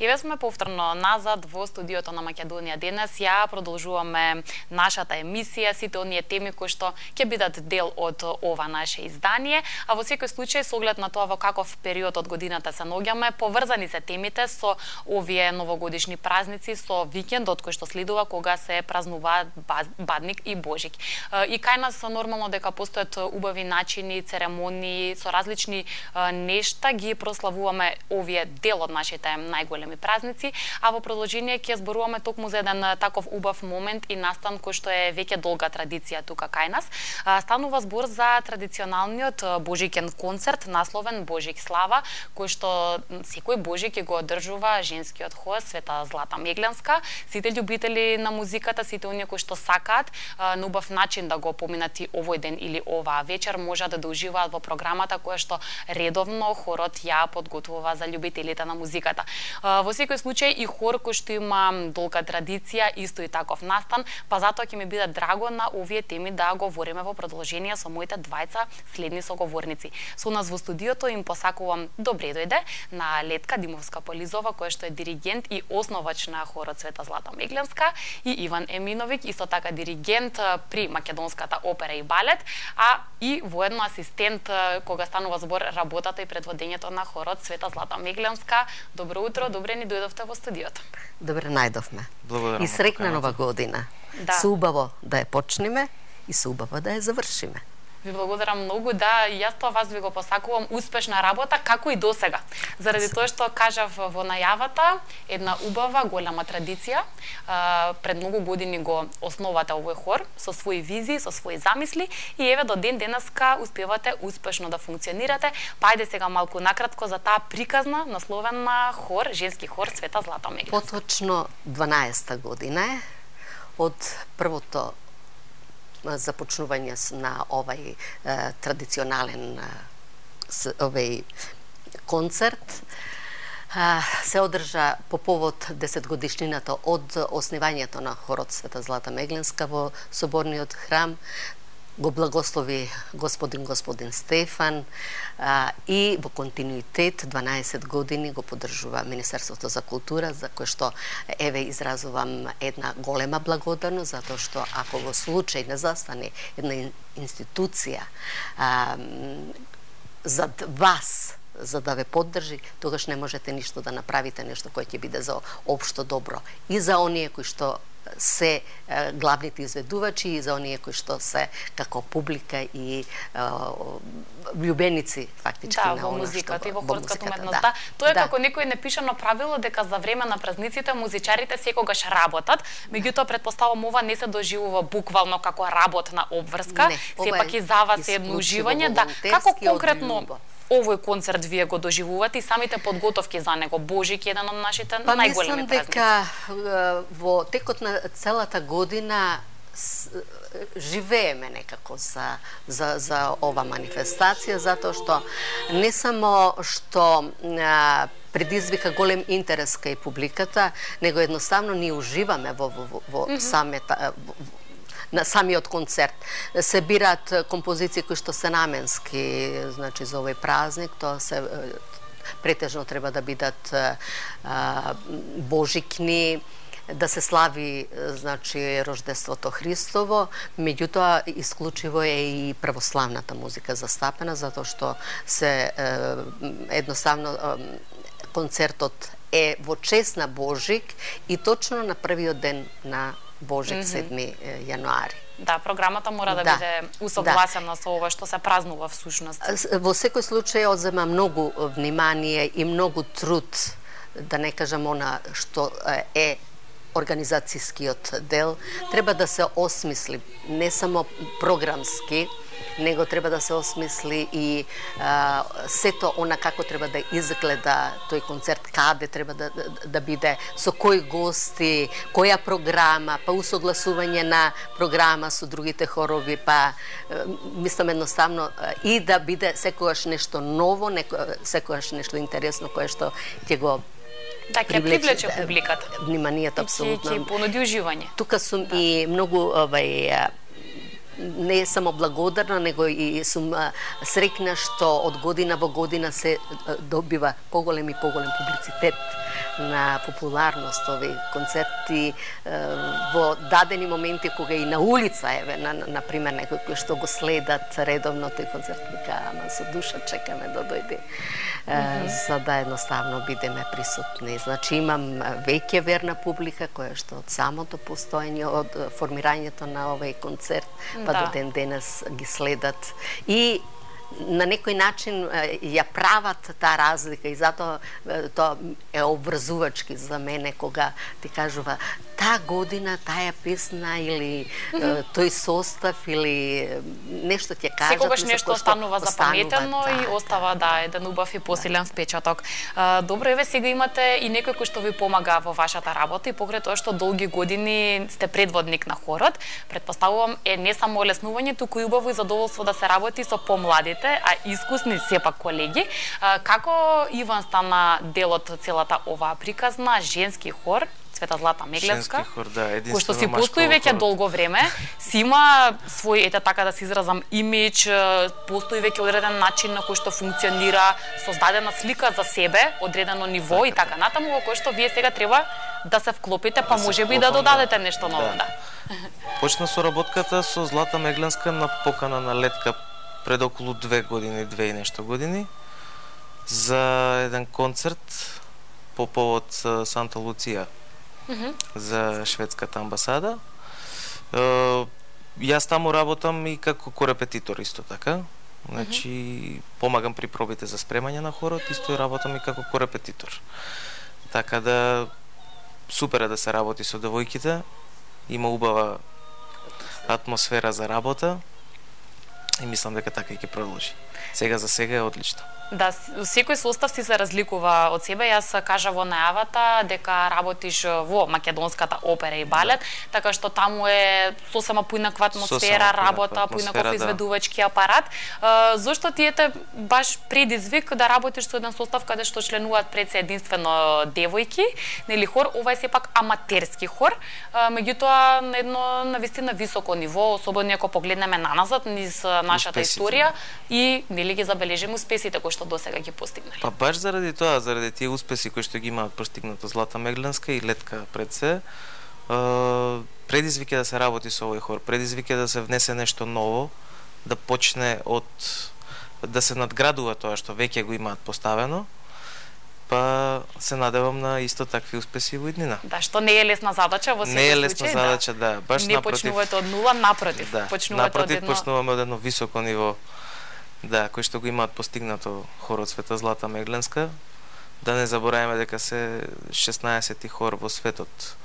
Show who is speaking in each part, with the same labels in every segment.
Speaker 1: Еве сме повторно назад во студиото на Македонија денес. Ја продолжуваме нашата емисија, сите оние теми кои што ќе бидат дел од ова наше издание, а во секој случај со оглед на тоа во каков период од годината се наоѓаме, поврзани се темите со овие новогодишни празници, со викендот кој што следува кога се празнуваат Бадник и Божик. И кај нас нормално дека постојат убави начини, церемонии, со различни нешта ги прославуваме овие дел од нашите најголеми празници, а во продолжение ќе зборуваме токму за еден таков убав момент и настан кој што е веќе долга традиција тука кај нас. Станува збор за традиционалниот божикен концерт насловен Божик слава, кој што секој Божик го одржува женскиот хор Света Злата Мегленска. Сите љубители на музиката, сите оние кои што сакаат на убав начин да го поминат и овој ден или оваа вечер, можат да уживаат во програмата која што редовно хорот ја подготвува за љубителите на музиката. Во секој случај и хор кој што има долга традиција, исто и таков настан, па затоа ќе ми биде драго на овие теми да говориме во продолжение со моите двајца следни соговорници. Со нас во студиото им посакувам добре дојде на Летка Димовска-Полизова, која што е диригент и основач на хорот Света Злата Мегленска, и Иван Еминовиќ, исто така диригент при Македонската опера и балет, а и воедно асистент кога станува збор работата и предводењето на хорот Света Злата Мегленска. Добро утро, добре ни дојдовте во студиото.
Speaker 2: Добре најдовме.
Speaker 3: Благодарам.
Speaker 2: И среќна нова година.
Speaker 1: Да.
Speaker 2: Се убаво да ја почнеме и се убаво да ја завршиме.
Speaker 1: Ви благодарам многу, да, јас тоа вас ви го посакувам успешна работа, како и досега. Заради тоа што кажав во најавата, една убава, голема традиција. Пред многу години го основате овој хор со своји визии, со своји замисли и еве до ден денеска успевате успешно да функционирате. Па ајде сега малку накратко за таа приказна насловена хор, женски хор Света Злата Мегленска.
Speaker 2: Поточно 12-та година е од првото започнување на овај традиционален овај концерт. Се одржа по повод 10 годишнината од основањето на хорот Света Злата Мегленска во соборниот храм. Го благослови господин Стефан и во континуитет 12 години го поддржува Министерството за култура, за кое што еве изразувам една голема благодарност, затоа што ако во случај не застане една институција зад вас, за да ве поддржи, тогаш не можете ништо да направите, нешто кое ќе биде за општо добро и за оние кои што се главните изведувачи и за оние кои што се како публика и влюбеници фактички на
Speaker 1: во музиката и во хорската уметност. Да. Тоа е како некој непишано правило дека за време на празниците музичарите секогаш работат, меѓутоа претпоставувам ова не се доживува буквално како работна обврска, сепак и за вас е едно уживање. Да, како конкретно овој концерт вие го доживувате и самите подготовки за него? Божик е еден од нашите најголеми празници.
Speaker 2: Па мислам дека во текот на целата година живееме некако за ова манифестација, затоа што не само што предизвика голем интерес кај публиката, него едноставно ние уживаме во на самиот концерт. Се бираат композиции кои што се наменски, значи за овој празник, тоа се претежно треба да бидат божикни, да се слави, значи, рождеството Христово, меѓутоа исклучиво е и православната музика застапена, затоа што се едноставно концертот е во чест на Божик и точно на првиот ден на Божик, 7 јануари.
Speaker 1: Да, програмата мора да биде усогласена со ова што се празнува всушност.
Speaker 2: Во секој случај одзема многу внимание и многу труд, да не кажам она што е организацијскиот дел, треба да се осмисли не само програмски, него треба да се осмисли и сето она како треба да изгледа тој концерт, каде треба да биде, со кои гости, која програма, па усогласување на програма со другите хорови, па мислам едноставно и да биде секогаш нешто ново, секогаш нешто интересно кое што ќе го
Speaker 1: ќе привлече публиката.
Speaker 2: Вниманието апсолутно.
Speaker 1: Ќе понуди уживање.
Speaker 2: Тука сум и многу не само благодарна, него и сум среќна што од година во година се добива поголем и поголем публицитет на популарност овие концерти во дадени моменти кога и на улица еве на пример некои кои што го следат редовно тој концерт вика ама со душа чекаме да дојде за да едноставно бидеме присутни. Значи имам веќе верна публика која што од самото постоење од формирањето на овој концерт па до ден денес ги следат и на некој начин ја прават таа разлика и затоа тоа е обврзувачки за мене кога ти кажува таа година, таа песна или тој состав или нешто ќе кажат.
Speaker 1: Секогаш нешто останува запаметено и остава еден убав и посилен впечаток. Добро, еве сега имате и некој кој што ви помага во вашата работа и покрај тоа што долги години сте предводник на хорот, претпоставувам е не само олеснување, туку и убаво и задоволство да се работи со помладите, а искусни сепак колеги. Како Иван стана дел од целата оваа приказна, женски хор, Света Злата Меглевска, кој што си постои веќе долго време, си има свој, ете така да се изразам, имидж, постои веќе одреден начин на кој што функционира, создадена слика за себе, одредено ниво и така натаму, во кој што вие сега треба да се вклопите, па можеби и да додадете нешто ново.
Speaker 3: Почна соработката со Злата Меглевска на покана на Летка пред околу 2 години, 2 и нешто години, за еден концерт по повод Санта Луција за шведската амбасада. Јас таму работам и како корепетитор исто така. Значи, помагам при пробите за спремање на хорот, исто и работам и како корепетитор. Така да, супер е да се работи со девојките, има убава атмосфера за работа и мислам дека така и ќе продолжи. Сега за сега е одлично.
Speaker 1: Да, секој состав си се разликува од себе. Јас кажа во најавата дека работиш во македонската опера и балет, така што таму е сосема поинаква атмосфера, работа, поинаков изведувачки апарат. Зошто ти ете баш предизвик да работиш со еден состав каде што членуваат пред се единствено девојки, нели хор, ова е сепак аматерски хор, меѓутоа на едно навистина високо ниво, особено ако погледнеме наназад низ нашата историја и нели ги забележиме успесите кои што досега ги постигнале.
Speaker 3: Па баш заради тоа, заради тие успеси кои што ги имаат постигнато Злата Меглевска и Летка пред се, предизвик е да се работи со овој хор, предизвик е да се внесе нешто ново, да почне од да се надградува тоа што веќе го имаат поставено. Па се надевам на исто такви успеси во иднина.
Speaker 1: Да, што не е лесна задача во секој случај.
Speaker 3: Не е лесна задача, да. Баш
Speaker 1: не почнувате од нула, напротив.
Speaker 3: Да, почнуваме од едно високо ниво. Да, кој што го имаат постигнато хорот Света Злата Меглевска. Да не забораваме дека се 16-ти хор во светот.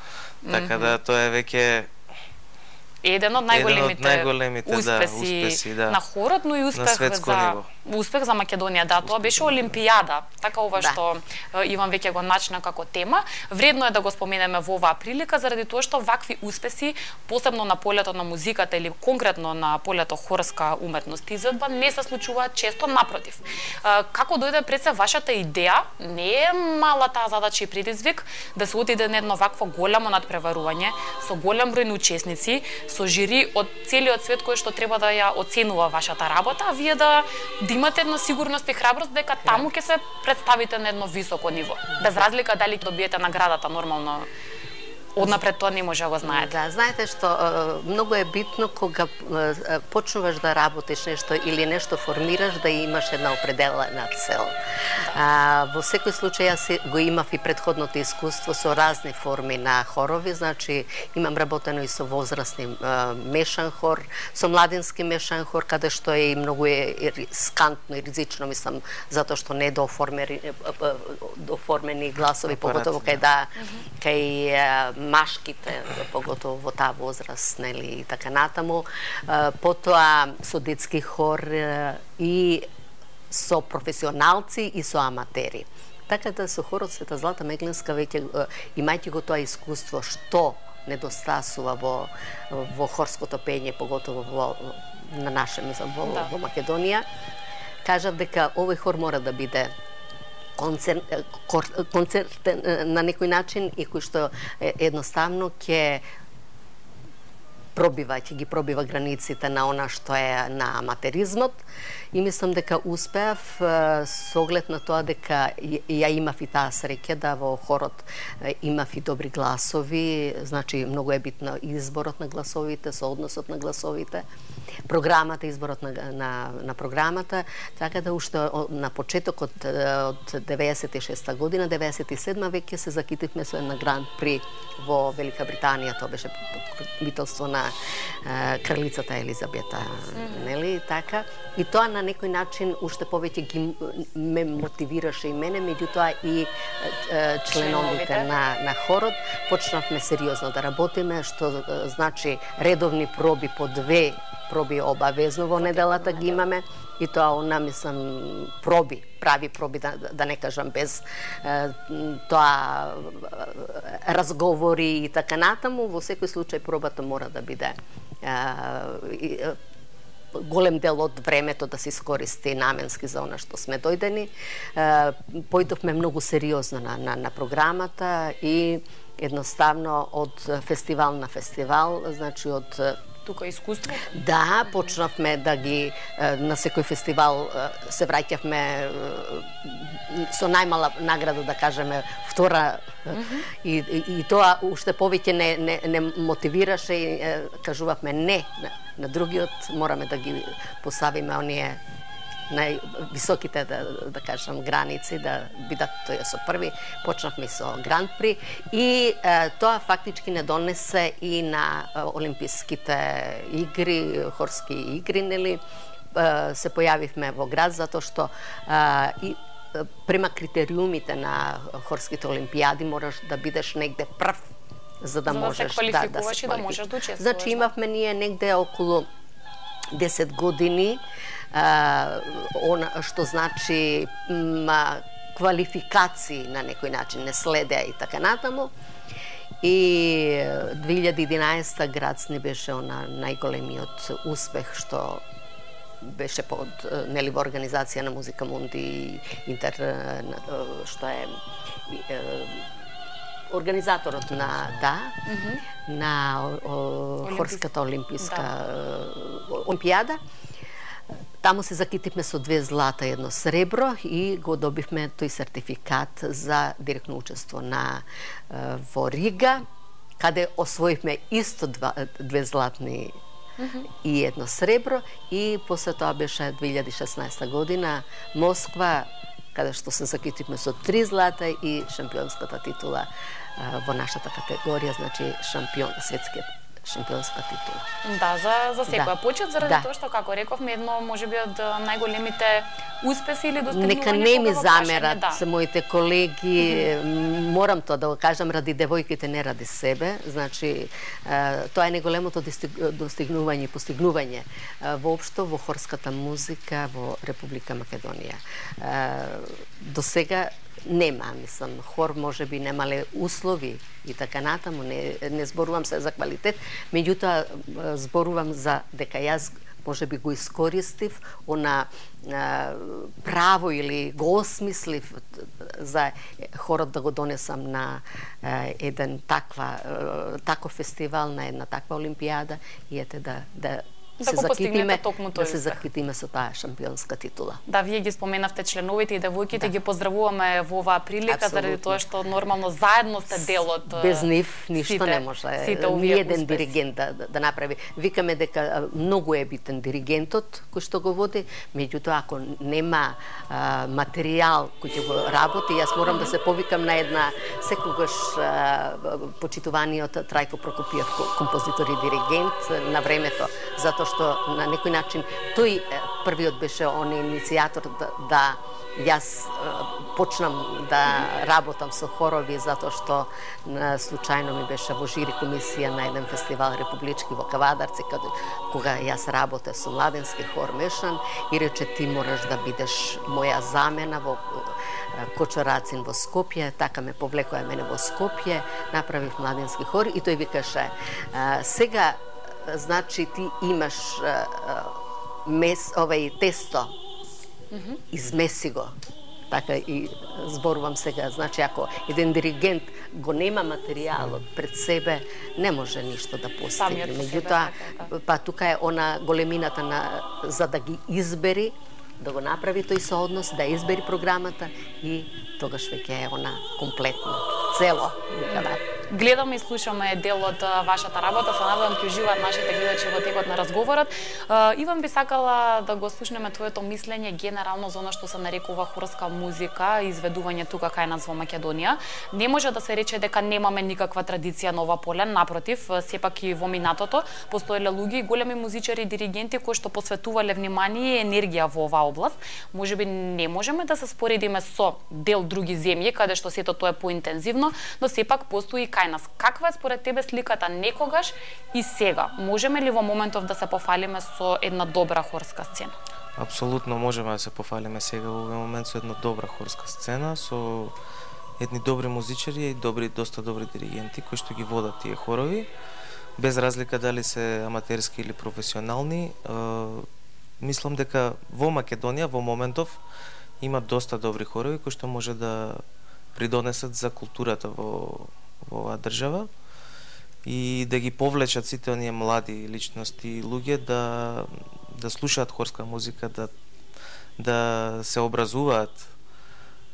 Speaker 3: Така да тоа е веќе
Speaker 1: еден од најголемите успеси на хорот, но и успех за Македонија. Да, тоа беше Олимпијада. Така ова што Иван веќе го начна како тема. Вредно е да го споменеме во оваа прилика заради тоа што вакви успеси, посебно на полето на музиката или конкретно на полето хорска уметност изvedба, не се случуваат често, напротив. Како дојде пред се вашата идеја? Не е мала таа задача и предизвик да се отиде на едно вакво голямо надпреварување со голем број на учесници, со жири од целиот свет кој што треба да ја оценува вашата работа, а вие да имате една сигурност и храброст дека таму ќе се представите на едно високо ниво. Без разлика дали добиете наградата, нормално однапред тоа не може да го знаете.
Speaker 2: Да, знаете што многу е битно кога почнуваш да работиш нешто или нешто формираш да имаш една определена цел. Во секој случај јас го имав и претходното искуство со разни форми на хорови, значи имам работено и со возрастни мешан хор, со младински мешан хор, каде што е и многу скантно и ризично, мислам, затоа што не доформени гласови, поготово кај машките, поготово во таа возраст, нели, и така натаму. Потоа со детски хор и со професионалци и со аматери. Така да со хорот Света Злата Меглевска веќе имајќи го тоа искуство што недостасува во хорското пење, поготово на наше, мислам, во Македонија, кажав дека овој хор мора да биде концерт на некој начин и кој што едноставно ќе ќе ги пробива границите на она што е на аматеризмот и мислам дека успеав со оглед на тоа дека ја имав и таа среќа да во хорот имав и добри гласови, значи многу е битно изборот на гласовите, соодносот на гласовите, програмата, изборот на програмата, така да уште на почетокот од 96 година, 97 веќе се закитивме со една Гранд При во Велика Британија, тоа беше покровителство на кралицата Елизабета, нели така? И тоа на некој начин уште повеќе ме мотивираше и мене, меѓутоа и членовите на хорот. Почнавме сериозно да работиме, што значи редовни проби по 2 проби обавезно во неделата ги имаме и тоа мислам прави проби, да не кажам без тоа разговори и така натаму. Во секој случај пробата мора да биде голем дел од времето да се искористи наменски за она што сме дојдени. Појдовме многу сериозно на програмата и едноставно од фестивал на фестивал, значи од
Speaker 1: тука искуство?
Speaker 2: Да, почнавме да ги на секој фестивал се враќавме со најмала награда, да кажеме, втора и тоа уште повеќе не мотивираше и кажувавме не на другиот, мораме да ги поставиме оние највисоките, да кажам, граници, да бидат тој со први. Почнавме со Гранд При и тоа фактички не донесе и на Олимписките игри, хорски игри, нели, се појавивме во град, затоа што и према критериумите на хорските олимпијади мораш да бидеш негде прв, за да можеш
Speaker 1: да се квалификуваш и да можеш да учествуваш.
Speaker 2: Значи имавме ние негде околу 10 години, што значи квалификации на некој начин не следеа и така натаму. И 2011 градсни беше најголемиот успех што беше под нели во организација на Музика Мунди Интер, што е организаторот на хорската олимписка олимпијада. Таму се закитивме со 2 злата и 1 сребро и го добивме тој сертификат за директно учество во Рига, каде освоивме исто 2 златни и 1 сребро и после тоа беше 2016 година Москва, каде што се закитивме со 3 злата и шампионската титула во нашата категорија, значи светскиот шампионска титула.
Speaker 1: Да, за секоја почет, заради тоа што, како рековме, едно можеби од најголемите успеси или достигнувања.
Speaker 2: Нека не ми замерат моите колеги, морам тоа да го кажам ради девојките, не ради себе. Значи, тоа е најголемото достигнување и постигнување воопшто во хорската музика во Република Македонија. До сега нема, мислам, хор можеби немале услови и така натаму, не зборувам се за квалитет, меѓутоа зборувам за дека јас можеби го искористив она право или го осмислив за хорот да го донесам на еден таков фестивал, на една таква олимпијада и ете да се закитиме со таа шампионска титула.
Speaker 1: Да, вие ги споменавте членовите и девојките, ги поздравуваме во оваа прилика, заради тоа што нормално заедно сте дел од
Speaker 2: без нив ништо не може. Ни еден диригент да направи. Викаме дека многу е битен диригентот кој што го води, меѓутоа ако нема материјал кој ќе го работи, јас морам да се повикам на една секогаш почитуваниот Трајко Прокопиев, композитор и диригент на времето, затоа што на некој начин тој првиот беше он иницијатор да јас почнам да работам со хорови, затоа што случајно ми беше во жири комисија на еден фестивал републички во Кавадарци, кога јас работев со младенски хор Мешан и рече ти мораш да бидеш моја замена во Кочорацин во Скопје, така ме повлекоа мене во Скопје, направив младенски хор и тој викаше сега значи ти имаш тесто, измеси го така и зборувам сега, значи ако еден диригент го нема материјалот пред себе, не може ништо да постигне. Меѓутоа, па тука е она големината за да ги избери, да го направи тој сооднос, да избери програмата и тогаш веќе е она комплетно, цело.
Speaker 1: Гледаме и слушаме дел од вашата работа, се надевам ќе уживаат нашите гледачи во текот на разговорот. Иван, би сакала да го слушнеме твоето мислење генерално за она што се нарекува хорска музика, изведување тука кај нас во Македонија. Не може да се рече дека немаме никаква традиција на ова поле, напротив, сепак и во минатото постоеле луѓе и големи музичари и диригенти кои што посветувале внимание и енергија во оваа област. Можеби не можеме да се споредиме со дел други земји каде што сето тоа е поинтензивно, но сепак постои кај нас. Каква е според тебе сликата некогаш и сега? Можеме ли во моментов да се пофалиме со една добра хорска сцена?
Speaker 3: Апсолутно можеме да се пофалиме сега во овој момент со една добра хорска сцена, со едни добри музичари и доста добри диригенти кои што ги водат тие хорови, без разлика дали се аматерски или професионални. Мислам дека во Македонија во моментов има доста добри хорови кои што може да придонесат за културата во оваа држава и да ги повлечат сите оние млади личности и луѓе да слушаат хорска музика, да се образуваат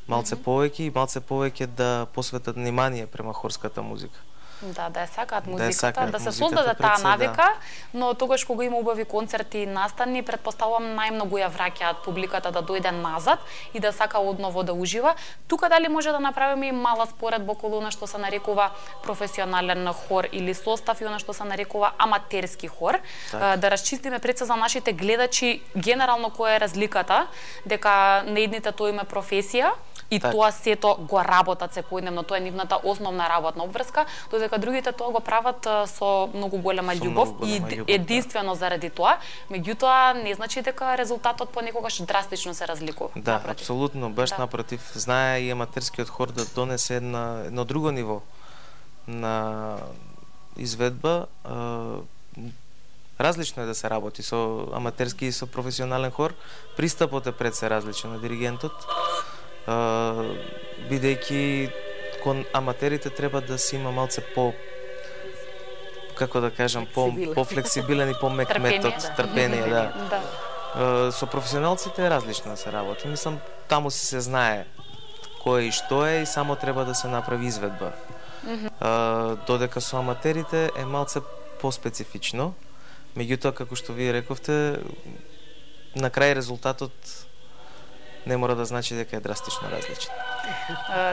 Speaker 3: малце повеќе и малце повеќе да посветат внимание према хорската музика.
Speaker 1: Да ја сакаат музиката, да се создаде таа навика, но тогаш кога има убави концерти и настани, претпоставувам најмногу ја враќаат публиката да дојде назад и да сака одново да ужива. Тука дали може да направиме и мала споредба околу она што се нарекува професионален хор или состав и она што се нарекува аматерски хор, да расчистиме пред се за нашите гледачи генерално која е разликата, дека на едните тоа има професија и тоа сето го работат секојдневно, тоа е нивната основна работна обврска, додека другите тоа го прават со многу голема љубов и единствено заради тоа, меѓутоа не значи дека резултатот понекогаш драстично се разликува.
Speaker 3: Да, напротив. Апсолутно, баш напротив. Знае и аматерскиот хор да донесе едно друго ниво на изведба. Различно е да се работи со аматерски и со професионален хор. Пристапот е пред се различен на диригентот. Бидејќи кон аматерите треба да се има малце како да кажам, по-флексибилен и по-мек метод, трпение, да. Со професионалците е различно да се работи. Мислам, таму се знае кој и што е и само треба да се направи изведба. Додека со аматерите е малце по-специфично. Меѓутоа, како што вие рековте, на крај резултатот не мора да значи дека е драстично различен.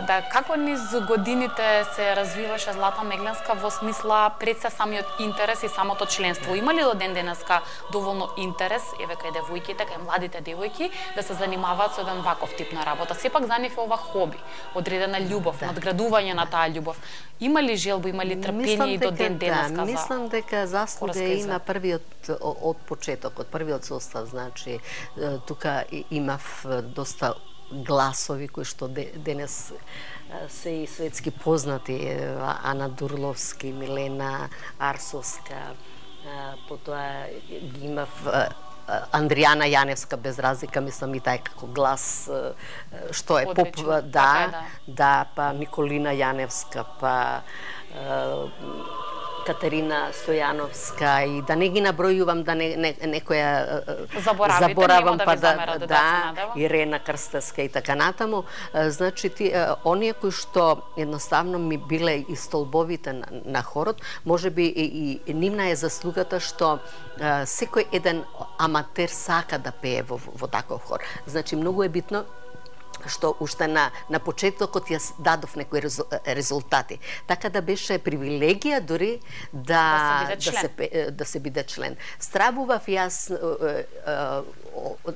Speaker 1: Да, како низ годините се развиваше Злата Мегленска во смисла пред се самиот интерес и самото членство? Има ли до ден денеска доволно интерес, еве кај девојките, кај младите девојки, да се занимаваат со еден ваков тип на работа? Сепак за нив е ова хоби, одредена љубов, надградување на таа љубов. Има ли желба, има ли трпение и до ден денеска?
Speaker 2: Мислам дека заслуга има првиот од почетокот, првиот состав, значи тука имав доста гласови кои што денес се и светски познати, Ана Дурловски, Милена Арсовска, потоа ги имав Андријана Јаневска, без разлика, мислам и тај како глас што е поп, да, па Николина Јаневска, па Катерина Стојановска и да не ги набројувам, да некоја заборавам, па да, Ирена Крстевска и така натаму. Значи, оние кои што едноставно ми биле и столбовите на хорот, можеби и нивна е заслугата што секој еден аматер сака да пее во таков хор. Значи, многу е битно што уште на почетокот ја дадов некои резултати. Така да беше привилегија дури да се биде член. Стравував јас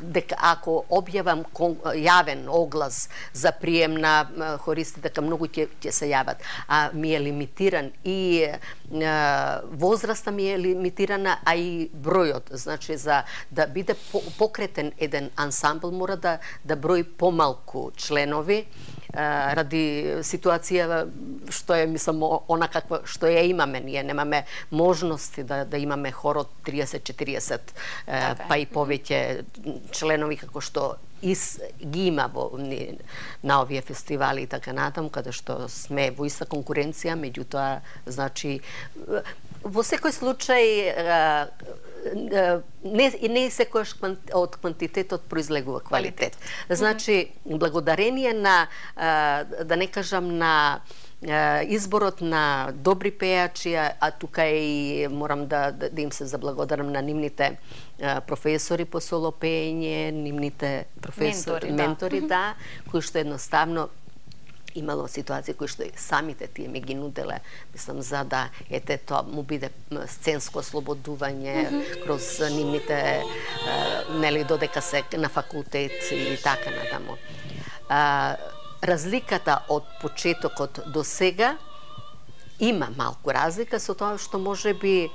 Speaker 2: дека ако објавам јавен оглас за прием на хористи, дека многу ќе се јават, а ми е лимитиран и возраста ми е лимитирана, а и бројот. Значи, за да биде покретен еден ансамбл мора да брои помалку членови, ради ситуација што е, мислам, она каква што ја имаме. Ние немаме можности да имаме хор од 30-40 па и повеќе членови како што ги има на овие фестивали и така натаму, каде што сме во иста конкуренција, меѓутоа, значи, во секој случај не секојаш од квантитетот произлегува квалитет. Значи, благодарение на, да не кажам, на изборот на добри пејачи, а тука и морам да им се заблагодарам на нивните професори по соло пеење, нивните ментори, да, кои што едноставно имало ситуации кои што самите тие ме ги нуделе, мислам, за да тоа му биде сценско ослободување кроз нивните, нели, додека се на факултет и така натаму. Разликата од почетокот до сега има малку разлика со тоа што можеби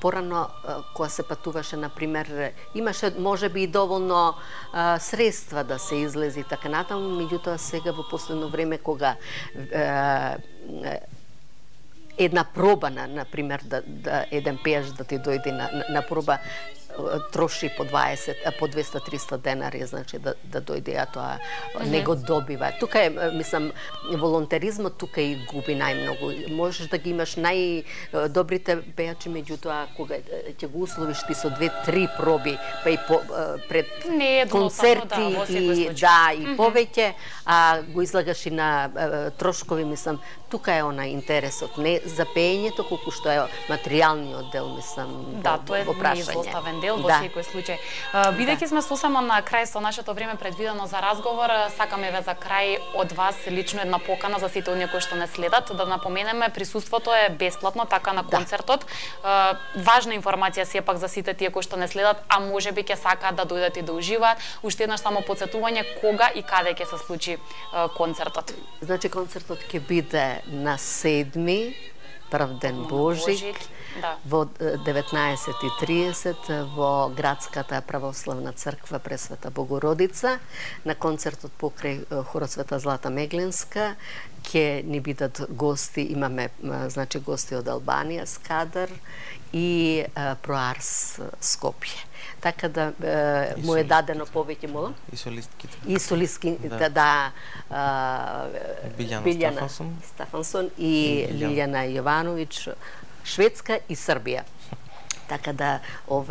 Speaker 2: порано кога се патуваше, например, имаше можеби и доволно средства да се излези така натаму, меѓутоа сега во последно време кога една проба, например, да еден пејач да ти дојде на проба, троши по 200-300 денари, значи да дојде, а тоа не го добива. Тука е, мислам, волонтеризмот тука и губи најмногу. Можеш да ги имаш најдобрите пејачи, меѓутоа кога ќе го условиш ти со 2-3 проби, па и пред концерти и повеќе, а го излагаш и на трошкови, мислам, тука е она интересот, не за пеењето, колку што е материјалниот дел, мислам,
Speaker 1: да, тоа е неизоставен дел во секој случај. Бидејќи сме сосема на крај со нашето време предвидено за разговор, сакаме ве за крај од вас лично една покана за сите оние кои што не следат, да напоменеме, присуството е бесплатно така на концертот. Важна информација сепак за сите тие кои што не следат, а можеби ќе сакаат да дојдат и да уживаат. Уште еднаш само потсетување кога и каде ќе се случи концертот.
Speaker 2: Значи концертот ќе биде на 7 прв ден Божик, во 19:30 во Градската православна црква Пресвета Богородица. На концертот покрај хорот Света Злата Мегленска ќе ни бидат гости, имаме, значи, гости од Албанија, Скадар и Проарс Скопје. Така да му е дадено повеќе, молам?
Speaker 3: И солистките.
Speaker 2: И солистките, да.
Speaker 3: Билјана
Speaker 2: Стафансон и Лилјана Јовановиќ, Шведска и Србија. Така да, во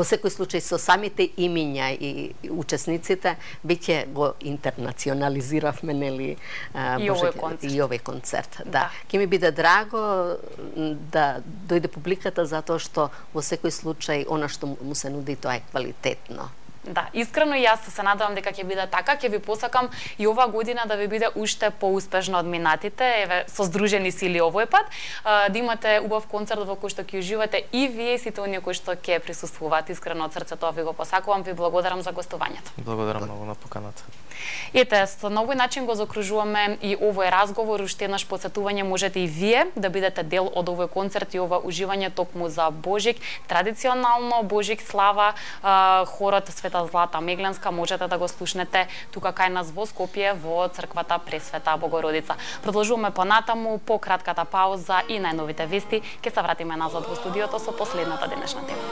Speaker 2: секој случај со самите имиња и учесниците, веќе го интернационализиравме, нели,
Speaker 1: и
Speaker 2: овој концерт. Да. Ќе ми биде драго да дојде публиката, затоа што во секој случај она што му се нуди, тоа е квалитетно.
Speaker 1: Да, искрено и јас се надевам дека ќе биде така. Ќе ви посакам и ова година да ви биде уште поуспешно од минатите, еве, со здружени сили овој пат, да имате убав концерт во кој што ќе уживате и вие и сите оние кои што ќе присуствуваат. Искрено од срце тоа ви го посакувам, ви благодарам за гостувањето.
Speaker 3: Благодарам многу на поканата.
Speaker 1: Ете, со на овој начин го закружуваме и овој разговор. Уште еднаш посетување можете и вие да бидете дел од овој концерт и ова уживање токму за Божик. Традиционално Божик слава, хорот Света Злата Мегленска можете да го слушнете тука кај нас во Скопје во црквата Пресвета Богородица. Продолжуваме понатаму по кратката пауза и најновите вести. Ќе се вратиме назад во студиото со последната денешна тема.